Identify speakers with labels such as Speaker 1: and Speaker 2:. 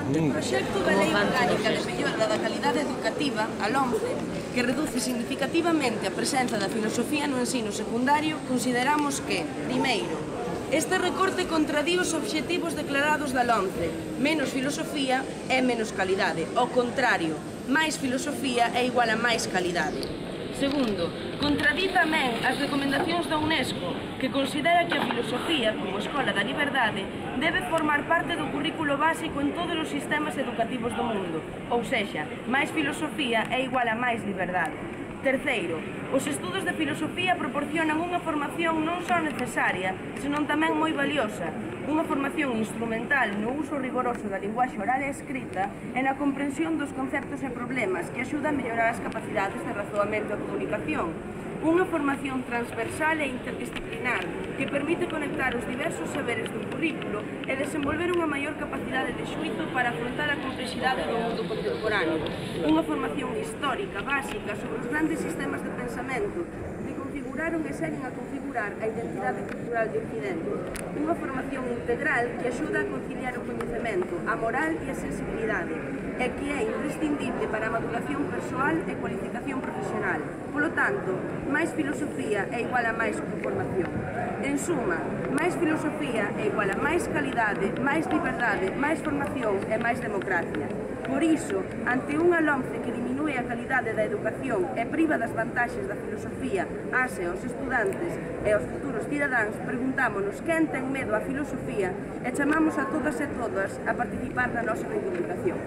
Speaker 1: O proxecto da Lei Orgánica de Mellora da Calidade Educativa, a LOMCE, que reduce significativamente a presenza da filosofía no ensino secundario, consideramos que, primeiro, este recorte contradí os obxectivos declarados da LOMCE. Menos filosofía é menos calidade. Ao contrario, máis filosofía é igual a máis calidade. Segundo, contradí tamén as recomendacións da UNESCO, que considera que a filosofía, como escola da liberdade, debe formar parte do currículo básico en todos os sistemas educativos do mundo. Ou sexa, máis filosofía é igual a máis liberdade. Terceiro, os estudos de filosofía proporcionan unha formación non só necesaria, senón tamén moi valiosa, unha formación instrumental no uso rigoroso da linguaxe oral e escrita e na comprensión dos conceptos e problemas que axuda a mellorar as capacidades de razoamento e comunicación. Unha formación transversal e interdisciplinar que permite conectar os diversos saberes do currículo e desenvolver unha maior capacidade de xuízo para afrontar a complexidade do mundo contemporáneo. Unha formación histórica, básica, sobre os grandes sistemas de pensamento que configuraron e seguen a configurar a identidade cultural de Occidente. Unha formación integral que axuda a conciliar o coñecemento, a moral e a sensibilidade, e que é imprescindible para a maduración persoal e cualificación profesional. Polo tanto, máis filosofía é igual a máis formación. En suma, máis filosofía é igual a máis calidade, máis liberdade, máis formación e máis democracia. Por iso, ante unha LOMCE que diminúe a calidade da educación e priva das vantaxes da filosofía ás e aos estudantes e aos futuros cidadáns, preguntámonos quen ten medo á filosofía e chamamos a todas e todas a participar na nosa reivindicación.